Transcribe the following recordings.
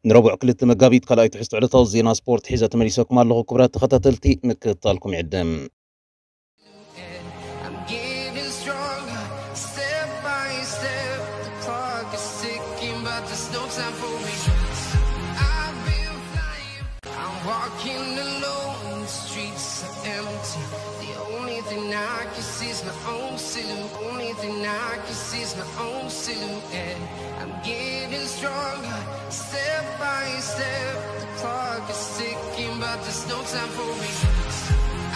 ንረቡዕ ክልተ መጋቢት ካልኣይ ትሕዝቶ ዕለታዊ ዜና ስፖርት ሒዘ ተመሊሰኩም ኣለኹ። ክቡራት ተኸታተልቲ፣ ምክትታልኩም ይዕድም። I'm getting stronger, step by step. The clock is ticking, but there's no time for me. I've been flying, I'm walking alone, the streets are empty. The only thing I can see is my own silhouette. Only thing I can see is my own silhouette. I'm getting stronger, step by step. The clock is ticking, but there's no time for me.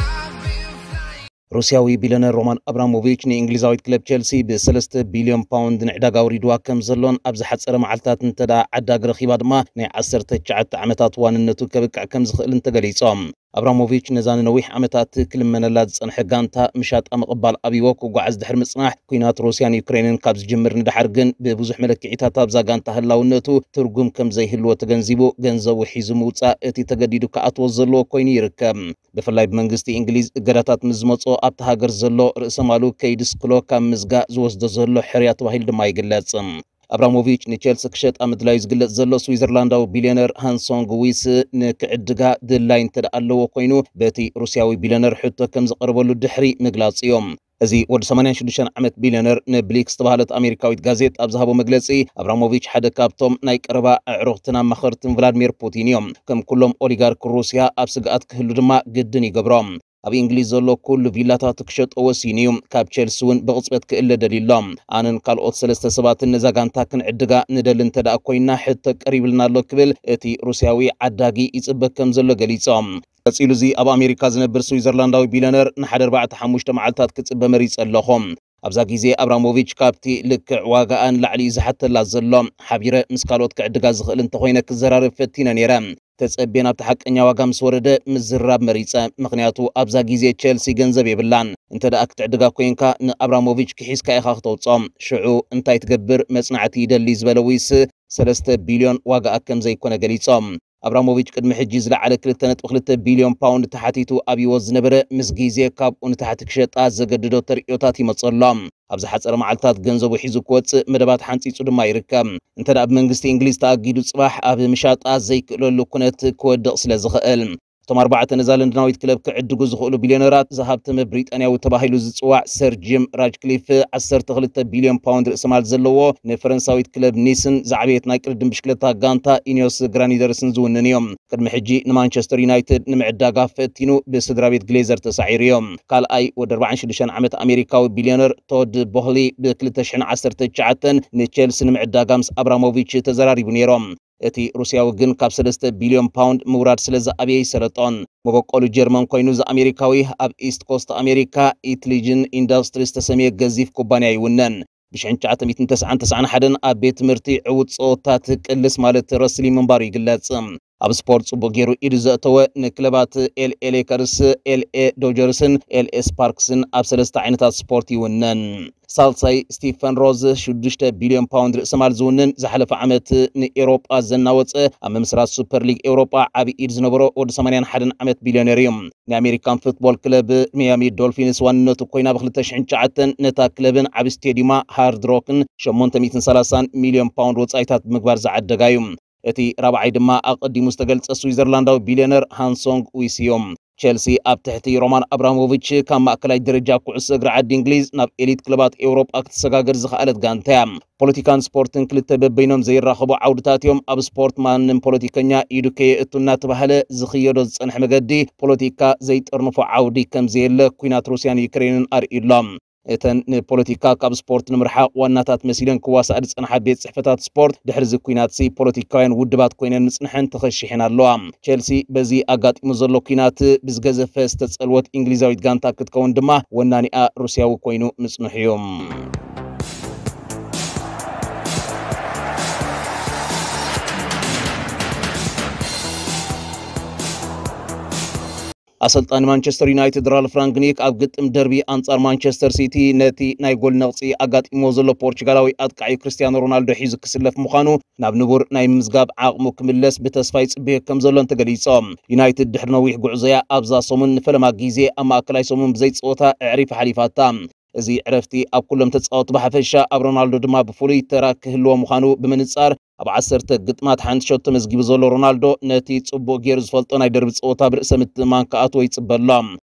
I've been flying. ሩስያዊ ቢልዮነር ሮማን ኣብራሞቪች ንእንግሊዛዊት ክለብ ቸልሲ ብ ሰለስተ ቢልዮን ፓውንድ ንዕዳጋ ኣውሪድዋ ከም ዘሎን ኣብ ዝሓጸረ መዓልታት እንተ ደኣ ዓዳጊ ረኺባ ድማ ናይ ዓሰርተ ትሽዓተ ዓመታት ዋንነቱ ከብቅዕ ከም ዝኽእልን ተገሊጾም። ኣብራሞቪች ነዛ ንነዊሕ ዓመታት ክልመነላ ዝጸንሐ ጋንታ ምሻጣ ምቕባል ኣብይዎ ክጓዓዝ ድሕሪ ምጽናሕ፣ ኲናት ሩስያን ዩክሬንን ካብ ዝጅምር ንደሓር ግን ብብዙሕ መለክዒታት ኣብዛ ጋንታ ህላውነቱ ትርጉም ከም ዘይህልዎ ተገንዚቡ፣ ገንዘቡ ሒዙ ምውጻእ እቲ ተገዲዱ ክኣትዎ ዘለዎ ኮይኑ ይርከብ። ብፍላይ ብመንግስቲ እንግሊዝ እገዳታት ምስ ዝመጾ ኣብቲ ሃገር ዘሎ ርእሰ ማሉ ከይድስክሎ ካብ ምዝጋእ ዝወስዶ ዘሎ ሕርያ ተባሂሉ ድማ ይግለጽ። ኣብራሞቪች ንቸልሲ ክሸጣ ምድላዩ ዝግለጽ ዘሎ ስዊዘርላንዳዊ ቢልዮነር ሃንሶንግ ዊስ ንክዕድጋ ድላይ እንተ ደኣ ኣለዎ ኮይኑ፣ በቲ ሩስያዊ ቢልዮነር ሕቶ ከም ዝቐረበሉ ድሕሪ ምግላጹ እዮም። እዚ ወዲ ሰማንያን ሽዱሽተን ዓመት ቢልዮነር ንብሊክ ዝተባህለት ኣሜሪካዊት ጋዜጥ ኣብ ዝሃቦ መግለጺ፣ ኣብራሞቪች ሓደ ካብቶም ናይ ቀረባ ኣዕሩኽትን ኣማኸርትን ቭላድሚር ፑቲን እዮም። ከም ኩሎም ኦሊጋርክ ሩስያ ኣብ ስግኣት ክህሉ ድማ ግድን ይገብሮ። ኣብ እንግሊዝ ዘሎ ኩሉ ቪላታቱ ክሸጦ ወሲኑ እዩ። ካብ ቸልሲ እውን ብቕጽበት ክእለ ደልዩ ኣሎ። ኣነን ካልኦት ሰለስተ ሰባትን ነዛ ጋንታ ክንዕድጋ ንደሊ እንተ ደኣ ኮይንና ሕቶ ቀሪብልና ኣሎ ክብል እቲ ሩስያዊ ዓዳጊ ይጽበ ከም ዘሎ ገሊጾም። ቀጺሉ እዚ ኣብ ኣሜሪካ ዝነብር ስዊዘርላንዳዊ ቢልዮነር ንሓደ ኣርባዕተ ሓሙሽተ መዓልታት ክጽበ መሪጸ ኣለኹ። ኣብዛ ግዜ ኣብራሞቪች ካብቲ ልክዕ ዋጋኣ ንላዕሊ እዩ ዝሓተላ ዘሎ። ሓቢረ ምስ ካልኦት ክዕድጋ ዝኽእል እንተኾይነ ክዘራረብ ፈቲነ ነይረ። ተጸብየ ናብቲ ሓቀኛ ዋጋ ምስ ወረደ ምዝራብ መሪጸ። ምኽንያቱ ኣብዛ ግዜ ቸልሲ ገንዘብ የብላን። እንተ ደኣ ክትዕድጋ ኮይንካ ንኣብራሞቪች ክሒዝካ ኢኻ ክተውጽኦ። ሽዑ እንታይ ትገብር መጽናዕቲ ይደሊ ዝበለ ዊስ ሰለስተ ቢልዮን ዋጋኣ ከም ዘይኮነ ገሊጾም። ኣብራሞቪች ቅድሚ ሕጂ ዝለዓለ ክልተ ነጥቢ ክልተ ቢልዮን ፓውንድ ተሓቲቱ ኣብይዎ ዝነበረ ምስ ግዜ ካብኡ ንታሕቲ ክሸጣ ዘገድዶ ተርእዮታት ይመጸ ኣሎ። ኣብ ዝሓጸረ መዓልታት ገንዘቡ ሒዙ ክወጽእ መደባት ሓንጺጹ ድማ ይርከብ። እንተ ደኣ ብመንግስቲ እንግሊዝ ተኣጊዱ ጽባሕ ኣብ ምሻጣ ዘይክእለሉ ኩነት ክወድቕ ስለ ዝኽእል። እቶም ኣርባዕተ ነዛ ለንደናዊት ክለብ ክዕድጉ ዝኽእሉ ቢልዮነራት ዝሃብተመ ብሪጣንያዊ ተባሂሉ ዝጽዋዕ ሰር ጂም ራጅክሊፍ ዓሰርተ ክልተ ቢልዮን ፓውንድ ርእሰማል ዘለዎ ንፈረንሳዊት ክለብ ኒስን ዝዓበየት ናይ ቅድድም ብሽክለታ ጋንታ ኢኒዮስ ግራኒደርስን ዝውንን እዮም። ቅድሚ ሕጂ ንማንቸስተር ዩናይትድ ንምዕዳጋ ፈቲኑ ብስድራ ቤት ግሌዘር ተሳዒሩ እዮም። ካልኣይ ወዲ ኣርባዓን ሽዱሽተን ዓመት ኣሜሪካዊ ቢልዮነር ቶድ ቦህሊ ብ ክልተ ሽሕን ዓሰርተ ትሽዓተን ንቸልሲ ንምዕዳጋ ምስ ኣብራሞቪች ተዘራሪቡ ነይሮም። እቲ ሩስያዊ ግን ካብ ሰለስተ ቢልዮን ፓውንድ ምውራድ ስለ ዝኣበየ ይሰለጦን። መበቆሉ ጀርመን ኮይኑ እዚ ኣሜሪካዊ ኣብ ኢስት ኮስት ኣሜሪካ ኢትሊጅን ኢንዳስትሪ ዝተሰምየ ገዚፍ ኩባንያ ይውነን። ብሽሕን ትሽዓተ ሚእትን ተስዓን ተስዓን ሓደን ኣብ ቤት ትምህርቲ ዕዉት ጸወታት ቅልስ ማለት ረስሊ ምንባሩ ይግለጽ። ኣብ ስፖርት ጽቡቕ ገይሩ ኢዱ ዘእተወ ንክለባት ኤልኤ ሌከርስ፣ ኤልኤ ዶጀርስን ኤልኤ ስፓርክስን ኣብ ሰለስተ ዓይነታት ስፖርት ይውነን። ሳልሳይ ስቲፈን ሮዝ ሽዱሽተ ቢልዮን ፓውንድ ርእሰማል ዝውንን ዝሓለፈ ዓመት ንኤውሮጳ ዘናወጸ ኣብ ምምስራት ሱፐር ሊግ ኤውሮጳ ዓቢ ኢድ ዝነበሮ ወዲ ሰማንያን ሓደን ዓመት ቢልዮነር እዩ። ናይ ኣሜሪካን ፉትቦል ክለብ ሚያሚ ዶልፊንስ ዋንነቱ ኮይና ብ ክልተ ሽሕን ትሽዓተን ነታ ክለብን ዓቢ ስቴዲዩማ ሃርድ ሮክን ሸሞንተ ሚእትን ሰላሳን ሚልዮን ፓውንድ ወጻኢታት ብምግባር ዝዓደጋ እዩ። እቲ ራብዓይ ድማ ኣቐዲሙ ዝተገልጸ ስዊዘርላንዳዊ ቢልዮነር ሃንሶንግ ዊስ እዩ። ቸልሲ ኣብ ትሕቲ ሮማን ኣብራሞቪች ካብ ማእከላይ ደረጃ ኩዕሶ እግሪ ዓዲ እንግሊዝ ናብ ኤሊት ክለባት ኤውሮጳ ክትሰጋገር ዝኸኣለት ጋንታ እያ። ፖለቲካን ስፖርትን ክልተ በበይኖም ዘይራኸቡ ዓውድታት እዮም። ኣብ ስፖርት ማንም ፖለቲከኛ ኢዱ ከየእቱ እናተባህለ ዝኽየዶ ዝጸንሐ መገዲ ፖለቲካ ዘይጠርንፎ ዓውዲ ከም ዘየለ ኲናት ሩስያን ዩክሬንን ኣርእዩ ኣሎ። እተን ንፖለቲካ ካብ ስፖርት ንምርሓቕ ዋናታት መሲለን ክዋሳእ ዝጸንሓ ቤት ጽሕፈታት ስፖርት ድሕሪ እዚ ኲናትሲ ፖለቲካውያን ውድባት ኮይነን ምጽንሐን ተኸሺሐን ኣለዋ። ቸልሲ በዚ ኣጋጢሙ ዘሎ ኲናት ብዝገዘፈ ዝተጸልወት እንግሊዛዊት ጋንታ ክትከውን ድማ ወናኒኣ ሩስያዊ ኮይኑ ምጽንሑ እዩ። ኣሰልጣኒ ማንቸስተር ዩናይትድ ራልፍ ራንግኒክ ኣብ ግጥም ደርቢ ኣንጻር ማንቸስተር ሲቲ ነቲ ናይ ጎል ነቕጺ ኣጋጢምዎ ዘሎ ፖርቹጋላዊ ኣጥቃዒ ክርስቲያኖ ሮናልዶ ሒዙ ክስለፍ ምዃኑ ናብ ንቡር ናይ ምምዝጋብ ዓቕሙ ክምለስ ብተስፋ ይጽበዮ ከም ዘሎን ተገሊጾም። ዩናይትድ ድሕሪ ነዊሕ ጉዕዞያ ኣብዛ ሰሙን ንፈለማ ግዜ ኣብ ማእከላይ ሰሙን ብዘይጸወታ ኣዕሪፋ ሓሊፋታ። እዚ ዕረፍቲ ኣብ ኩሎም ተጻወቲ ብሓፈሻ፣ ኣብ ሮናልዶ ድማ ብፍሉይ ተራ ክህልዎ ምዃኑ ብምንጻር፣ ኣብ ዓሰርተ ግጥማት ሓንቲ ሸቶ መዝጊቡ ዘሎ ሮናልዶ፣ ነቲ ጽቡቕ ገይሩ ዝፈልጦ ናይ ደርቢ ጸወታ ብርእሰ ምትእምማን ክኣትዎ ይጽበ ኣሎ።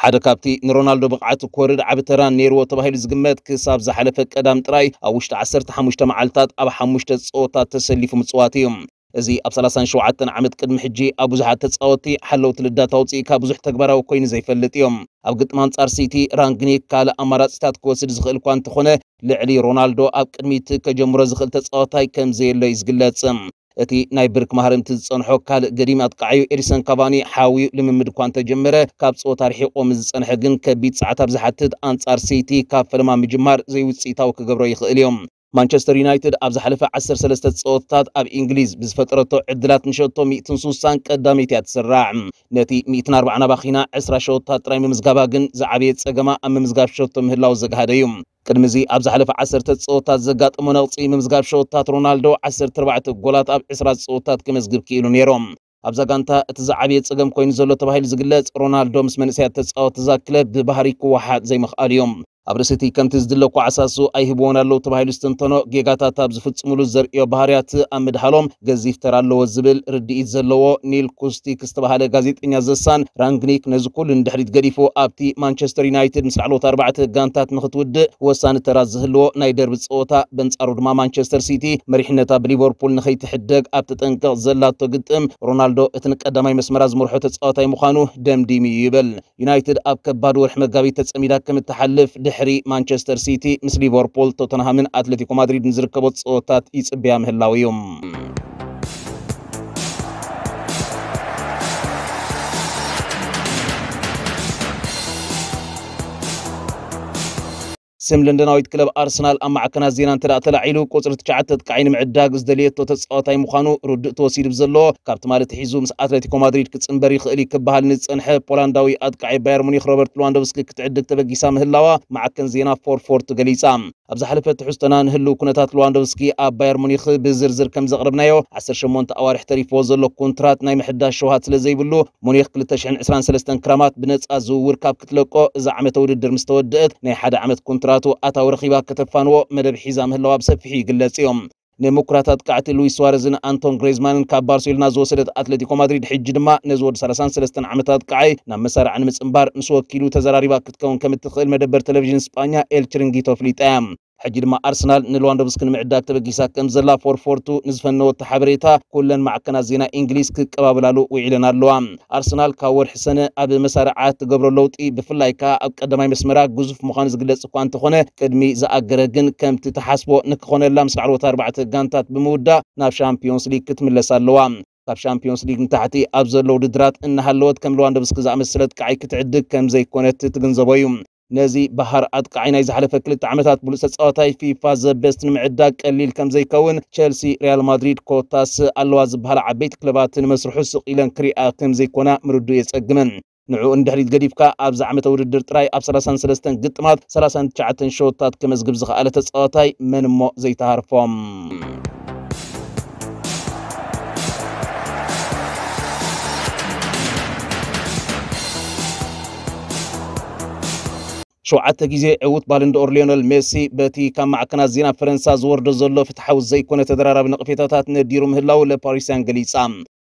ሓደ ካብቲ ንሮናልዶ ብቕዓቱ ክወርድ ዓቢ ተራ ነይርዎ ተባሂሉ ዝግመት፣ ክሳብ ዝሓለፈ ቀዳም ጥራይ ኣብ ውሽጢ ዓሰርተ ሓሙሽተ መዓልታት ኣብ ሓሙሽተ ጸወታት ተሰሊፉ ምጽዋት እዩ። እዚ ኣብ ሰላሳን ሸውዓተን ዓመት ቅድሚ ሕጂ ኣብ ብዙሓት ተጻወትቲ ሓለውቲ ልዳት ኣውጺእካ ብዙሕ ተግባራዊ ኮይኑ ዘይፈልጥ እዩ። ኣብ ግጥም ኣንጻር ሲቲ፣ ራንግኒክ ካልእ ኣማራጺታት ክወስድ ዝኽእል እኳ እንተኾነ፣ ልዕሊ ሮናልዶ ኣብ ቅድሚት ከጀምሮ ዝኽእል ተጻዋታይ ከም ዘየሎ እዩ ዝግለጽ። እቲ ናይ ብርክ ማህረምቲ ዝጸንሖ ካልእ ገዲም ኣጥቃዓዩ ኤዲሰን ካቫኒ ሓውዩ ልምምድ እኳ እንተጀመረ፣ ካብ ጸወታ ርሒቑ ምስ ዝጸንሐ ግን ከቢድ ጸዓት ኣብ ዝሓትት ኣንጻር ሲቲ ካብ ፈለማ ምጅማር ዘይውጽኢታዊ ክገብሮ ይኽእል እዩ። ማንቸስተር ዩናይትድ ኣብ ዝሓለፈ ዓሰርተ ሰለስተ ጸወታታት ኣብ እንግሊዝ ብዝፈጠረቶ ዕድላት ንሸቶ ሚእትን ስሳን ቀዳመይቲ እያ ትስራዕ። ነቲ ሚእትን ኣርባዓን ኣባኺና ዕስራ ሸቶታት ጥራይ ምምዝጋባ ግን ዝዓበየ ጸገማ ኣብ ምምዝጋብ ሸቶ ምህላው ዘግሃደ እዩ። ቅድሚ እዚ ኣብ ዝሓለፈ ዓሰርተ ጸወታታት ዘጋጠሞ ነቕጺ ምምዝጋብ ሸቶታት ሮናልዶ ዓሰርተ ኣርባዕተ ጎላት ኣብ ዕስራ ጸወታታት ክመዝግብ ክኢሉ ነይሩ። ኣብዛ ጋንታ እቲ ዝዓበየ ጸገም ኮይኑ ዘሎ ተባሂሉ ዝግለጽ፣ ሮናልዶ ምስ መንእሰያት ተጻወትቲ እዛ ክለብ ብባህሪ ክወሓጥ ዘይምኽኣሉ እዩ። ኣብ ርእሲ እቲ ከምቲ ዝድለ ኳዕሳሱ ኣይህብዎን ኣለዉ ተባሂሉ ዝተንተኖ፣ ጌጋታት ኣብ ዝፍጽሙሉ ዘርእዮ ባህርያት ኣብ ምድሃሎም ገዚፍ ተራ ኣለዎ ዝብል ርድኢት ዘለዎ ኒል ኩስቲክ ዝተባህለ ጋዜጠኛ ዘሳን፣ ራንግኒክ ነዚ ኩሉ ንድሕሪት ገዲፉ ኣብቲ ማንቸስተር ዩናይትድ ምስ ላዕለዎት ኣርባዕተ ጋንታት ንኽትውድእ ወሳኒ ተራ ዝህልዎ ናይ ደርቢ ጸወታ፣ በንጻሩ ድማ ማንቸስተር ሲቲ መሪሕነታ ብሊቨርፑል ንኸይትሕደግ ኣብ ተጠንቀቕ ዘላቶ ግጥም፣ ሮናልዶ እቲ ንቀዳማይ መስመራ ዝመርሖ ተጻዋታይ ምዃኑ ደምዲሙ እዩ ይብል። ዩናይትድ ኣብ ከባድ ወርሒ መጋቢት ተጸሚዳ ከም እትሓልፍ፣ ድሕሪ ማንቸስተር ሲቲ፣ ምስ ሊቨርፑል፣ ቶተንሃምን ኣትሌቲኮ ማድሪድን ዝርከቦ ጸወታት ይጽበያ ምህላው እዩ። ስም ለንደናዊት ክለብ ኣርሰናል ኣብ ማዕከናት ዜና እንተ ደኣ ተላዒሉ፣ ቁጽሪ ትሽዓተ ኣጥቃዓይ ንምዕዳግ ዝደለየቶ ተጻዋታይ ምዃኑ ርዱእ ተወሲዱ ብዘሎ፣ ካብ ትማሊ ኣትሒዙ ምስ ኣትሌቲኮ ማድሪድ ክጽንበር ይኽእል እዩ ክበሃል ንዝጸንሐ ፖላንዳዊ ኣጥቃዓይ ባየር ሙኒክ ሮበርት ሉዋንዶቭስኪ ክትዕድግ ተበጊሳ ምህላዋ ማዕከን ዜና ፎር ፎርቲ ገሊጻ። ኣብ ዝሓለፈ ትሕዝቶና ንህልው ኩነታት ሉዋንዶቭስኪ ኣብ ባየር ሙኒክ ብዝርዝር ከም ዘቕረብናዮ፣ ዓሰርተ ሸሞንተ ኣዋርሕ ተሪፍዎ ዘሎ ኮንትራት ናይ ምሕዳስ ሸውሃት ስለ ዘይብሉ፣ ሙኒክ ክልተ ሽሕን ዕስራን ሰለስተን ክራማት ብነጻ ዝውውር ካብ ክትለቆ፣ እዛ ዓመተ ውድድር ምስ ተወደአት ናይ ሓደ ዓመት ኮንትራቱ ኣታዊ ረኺባ ከተፋንዎ መደብ ሒዛ ምህላዋ ብሰፊሑ ይግለጽ እዩ። ንምኩራት ኣጥቃዕቲ ሉዊስ ሱዋረዝን ኣንቶን ግሬዝማንን ካብ ባርሴሎና ዝወሰደት ኣትሌቲኮ ማድሪድ፣ ሕጂ ድማ ነዚ ወዲ ሰላሳን ሰለስተን ዓመት ኣጥቃዓይ ናብ መሳርዓ ንምጽንባር ምስ ወኪሉ ተዘራሪባ ክትከውን ከም እትኽእል መደበር ቴሌቪዥን ስጳኛ ኤል ችሪንጊቶ ኣፍሊጣ እያ። ሕጂ ድማ ኣርሰናል ንሉዋንዶቭስኪ ንምዕዳግ ተበጊሳ ከም ዘላ ፎር ፎር ቱ ንዝፈነወቶ ሓበሬታ፣ ኩለን ማዕከናት ዜና እንግሊዝ ክቀባበላሉ ውዒለን ኣለዋ። ኣርሰናል ካብ ወርሒ ሰነ ኣብ መሳርዓ ትገብሮ ለውጢ፣ ብፍላይ ከኣ ኣብ ቀዳማይ መስመራ፣ ግዙፍ ምዃኑ ዝግለጽ እኳ እንተኾነ፣ ቅድሚ ዝኣገረ ግን ከምቲ ተሓስቦ ንክኾነላ ምስ ላዕለዎት ኣርባዕተ ጋንታት ብምውዳእ ናብ ሻምፒዮንስ ሊግ ክትምለስ ኣለዋ። ካብ ሻምፒዮንስ ሊግ ንታሕቲ ኣብ ዘሎ ውድድራት እናሃለወት፣ ከም ሉዋንዶቭስኪ ዝኣመሰለ ኣጥቃዓይ ክትዕድግ ከም ዘይኮነት ትግንዘቦ እዩ። ነዚ በሃር ኣጥቃዓይ ናይ ዝሓለፈ ክልተ ዓመታት ብሉጽ ተጻዋታይ ፊፋ ዘ ቤስት ንምዕዳግ ቀሊል ከም ዘይከውን፣ ቸልሲ፣ ሪያል ማድሪድ፣ ኮታስ ኣለዋ ዝበሃላ ዓበይቲ ክለባት ንመስርሑ ስቕ ኢለን ክሪኣ ከም ዘይኮና ምርድኡ የጸግመን። ንዕኡ ንድሕሪት ገዲፍካ፣ ኣብዚ ዓመተ ውድድር ጥራይ ኣብ ሰላሳን ሰለስተን ግጥማት ሰላሳን ትሽዓተን ሸቶታት ከመዝግብ ዝኸኣለ ተጻዋታይ መን እሞ ዘይተሃርፎም? ሸውዓተ ግዜ ዕዉት ባለንዶር ሊዮነል ሜሲ፣ በቲ ካብ ማዕከናት ዜና ፈረንሳ ዝወርዶ ዘሎ ፍትሓዊ ዘይኮነ ተደራራቢ ነቕፌታታት ነዲሩ ምህላው ለፓሪስያን ገሊጻ።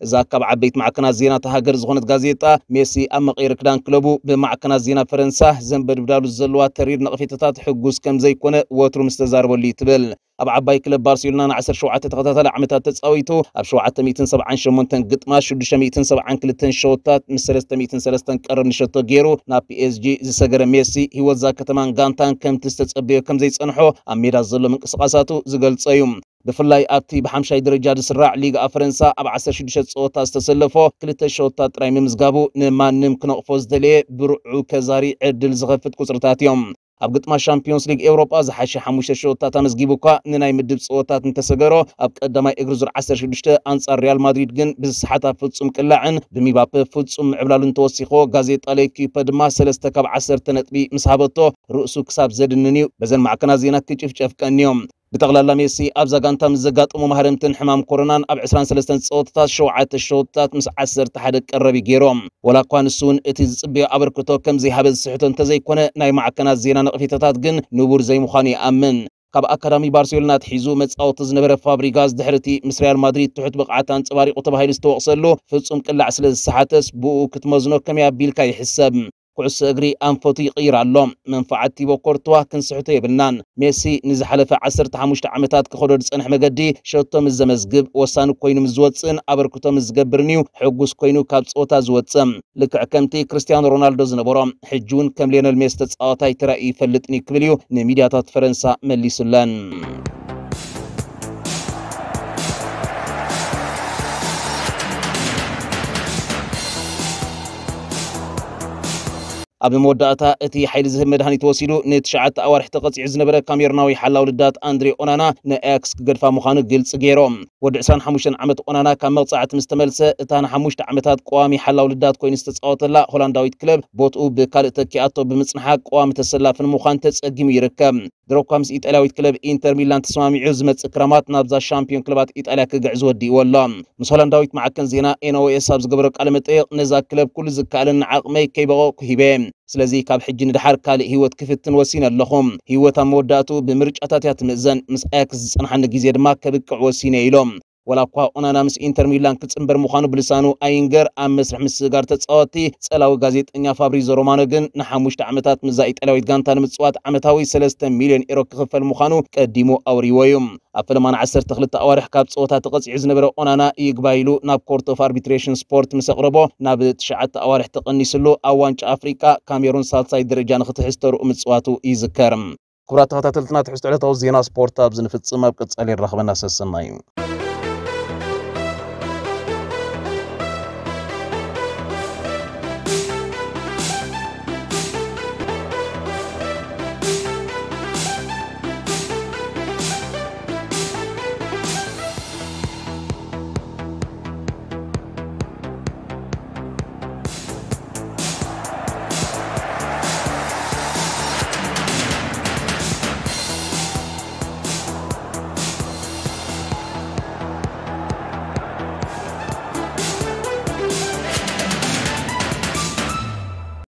እዛ ካብ ዓበይቲ ማዕከናት ዜና እታ ሃገር ዝኾነት ጋዜጣ፣ ሜሲ ኣብ መቐየሪ ክዳን ክለቡ ብማዕከናት ዜና ፈረንሳ ዘንበድብዳሉ ዘለዋ ተሪር ነቕፌታታት ሕጉስ ከም ዘይኮነ ወትሩ ምስ ተዛረበሉ እዩ ትብል። ኣብ ዓባይ ክለብ ባርሴሎና ን ዓሰርተ ሸውዓተ ተኸታታሊ ዓመታት ተጻዊቱ፣ ኣብ ሸውዓተ ሚእትን ሰብዓን ሸሞንተን ግጥማት ሽዱሽተ ሚእትን ሰብዓን ክልተን ሸወታት ምስ ሰለስተ ሚእትን ሰለስተን ቀረብ ንሸቶ ገይሩ ናብ ፒ ኤስ ጂ ዝሰገረ ሜሲ፣ ህይወት እዛ ከተማን ጋንታን ከምቲ ዝተጸበዮ ከም ዘይጸንሖ ኣብ ሜዳ ዘሎ ምንቅስቓሳቱ ዝገልጾ እዩ። ብፍላይ ኣብቲ ብሓምሻይ ደረጃ ዝስራዕ ሊግ ኣብ ፈረንሳ ኣብ ዓሰርተ ሽዱሽተ ጸወታ ዝተሰለፎ ክልተ ሸወታት ጥራይ ምምዝጋቡ ንማንም ክነቕፎ ዝደለየ ብርዑ ከዛሪ ዕድል ዝኸፍት ቁጽርታት እዮም። ኣብ ግጥማት ሻምፒዮንስ ሊግ ኤውሮጳ ዝሓሸ ሓሙሽተ ሸወታት ኣመዝጊቡ እኳ ንናይ ምድብ ጸወታት እንተሰገሮ፣ ኣብ ቀዳማይ እግሪ ዙር ዓሰርተ ሽዱሽተ ኣንጻር ሪያል ማድሪድ ግን ብዝሰሓታ ፍጹም ቅላዕን ብሚባፔ ፍጹም ምዕብላሉን ተወሲኽዎ። ጋዜጣ ሌኪፐ ድማ ሰለስተ ካብ ዓሰርተ ነጥቢ ምስ ሃበቶ ርእሱ ክሳብ ዘድንን እዩ በዘን ማዕከናት ዜና ክጭፍጨፍ ቀንዮም። ብጠቕላላ ሜሲ ኣብዛ ጋንታ ምስ ዘጋጠሙ ማህረምትን ሕማም ኮሮናን ኣብ ዕስራን ሰለስተን ጸወታታት ሸውዓተ ሸውታት ምስ ዓሰርተ ሓደ ቀረቢ ገይሮም። ወላ እኳ ንሱ እውን እቲ ዝጽበዮ ኣበርክቶ ከም ዘይሃበ ዝስሕቶ እንተዘይኮነ፣ ናይ ማዕከናት ዜና ነቕፌታታት ግን ንቡር ዘይምዃኑ ይኣምን። ካብ ኣካዳሚ ባርሴሎና ኣትሒዙ መጻወቲ ዝነበረ ፋብሪጋስ፣ ድሕሪ እቲ ምስ ሪያል ማድሪድ ትሑት ብቕዓት ኣንጸባሪቑ ተባሂሉ ዝተወቕሰሉ ፍጹም ቅላዕ ስለ ዝሰሓተስ፣ ብኡ ክትመዝኖ ከመይ ኣቢልካ ይሕሰብ? ኩዕሶ እግሪ ኣንፈቱ ይቕይር ኣሎ። መንፋዓት ቲቦ ኮርትዋ ክንስሕቶ የብልናን። ሜሲ ንዝሓለፈ ዓሰርተ ሓሙሽተ ዓመታት ክኸዶ ዝጸንሐ መገዲ ሸቶ ምስ ዘመዝግብ፣ ወሳኒ ኮይኑ ምስ ዝወጽእን ኣበርክቶ ምስ ዝገብርን እዩ ሕጉስ ኮይኑ ካብ ጸወታ ዝወጽእ። ልክዕ ከምቲ ክርስቲያኖ ሮናልዶ ዝነበሮ፣ ሕጂ እውን ከም ሊዮነል ሜሲ ተጻዋታይ ተራእዩ ይፈልጥን እዩ ክብል እዩ ንሚድያታት ፈረንሳ መሊሱለን። ኣብ መወዳእታ እቲ ሓይሊ ዝህብ መድሃኒት ወሲዱ ንትሽዓተ ኣዋርሕ ተቐጺዑ ዝነበረ ካሜሩናዊ ሓላው ልዳት ኣንድሬ ኦናና ንኣያክስ ክገድፋ ምዃኑ ግልጺ ገይሮም። ወዲ ዕስራን ሓሙሽተን ዓመት ኦናና ካብ መቕጻዕቲ ምስ ተመልሰ፣ እታ ንሓሙሽተ ዓመታት ቀዋሚ ሓላው ልዳት ኮይኑ ዝተጻወተላ ሆላንዳዊት ክለብ ቦትኡ ብካልእ ተኪኣቶ ብምጽንሓ ቀዋሚ ተሰላፊ ንምዃን ተጸጊሙ ይርከብ። ድሮ እኳ ምስ ኢጣልያዊት ክለብ ኢንተር ሚላን ተሰማሚዑ ዝመጽእ ክረማት ናብዛ ሻምፒዮን ክለባት ኢጣልያ ክግዕዝ ወዲእዎ ኣሎ። ምስ ሆላንዳዊት ማዕከን ዜና ኤን ኦ ኤስ ኣብ ዝገበሮ ቃለ መጠይቕ፣ ነዛ ክለብ ኩሉ ዝከኣለኒ ዓቕመይ ከይበቐቕኩ ሂበ። ስለዚ ካብ ሕጂ ንደሓር ካልእ ህይወት ክፍትን ወሲነ ኣለኹ። ህይወት ኣብ መወዳእትኡ ብምርጫታት እያ ትምእዘን። ምስ ኣያክስ ዝጸንሓኒ ግዜ ድማ ከብቅዕ ወሲነ ኢሎም። ወላ እኳ ኦናና ምስ ኢንተር ሚላን ክጽንበር ምዃኑ ብልሳኑ ኣይንገር፣ ኣብ መስርሕ ምስግጋር ተጻወትቲ ጸላዊ ጋዜጠኛ ፋብሪዞ ሮማኖ ግን ንሓሙሽተ ዓመታት ምስዛ ኢጣልያዊት ጋንታ ንምጽዋት ዓመታዊ ሰለስተ ሚልዮን ኤሮ ክኽፈል ምዃኑ ቀዲሙ ኣውሪዎ እዩ። ኣብ ፈለማ ንዓሰርተ ክልተ ኣዋርሕ ካብ ጸወታ ተቐጺዑ ዝነበረ ኦናና ይግባይ ኢሉ ናብ ኮርት ኦፍ ኣርቢትሬሽን ስፖርት ምስ ኣቕረቦ፣ ናብ ትሽዓተ ኣዋርሕ ተቐኒስሉ ኣብ ዋንጫ ኣፍሪቃ ካሜሩን ሳልሳይ ደረጃ ንኽትሕዝ ተርኡ ምጽዋቱ ይዝከር። ክቡራት ተኸታተልትና፣ ትሕዝቶ ዕለታዊ ዜና ስፖርት ኣብዚ ንፍጽም። ኣብ ቀጻሊ ይራኸበና። ሰሰናዩ።